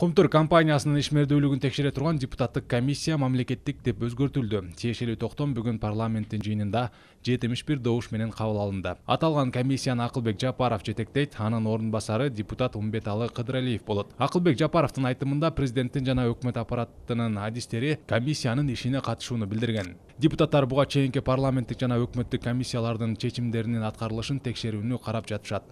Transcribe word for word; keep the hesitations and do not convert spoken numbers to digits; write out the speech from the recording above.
Кумтур компаниясынын ишмердүүлүгүн текшере турган депутаттык комиссия мамлекеттик деп өзгөртүлдү. Тиешелүү токтом бүгүн парламенттин жыйынында жетимиш бир добуш менен кабыл алынды. Аталган комиссияны Акылбек Жапаров жетектейт, анын орун басары депутат Умбеталы Кыдыралиев болот. Акылбек Жапаровдун айтымында президенттин жана өкмөт аппаратынын адистери комиссиянын ишине катышууну билдирген. Депутаттар буга чейинки парламенттик жана өкмөттүк комиссиялардын чечимдеринин аткарылышын текшерүүнү карап жатышат.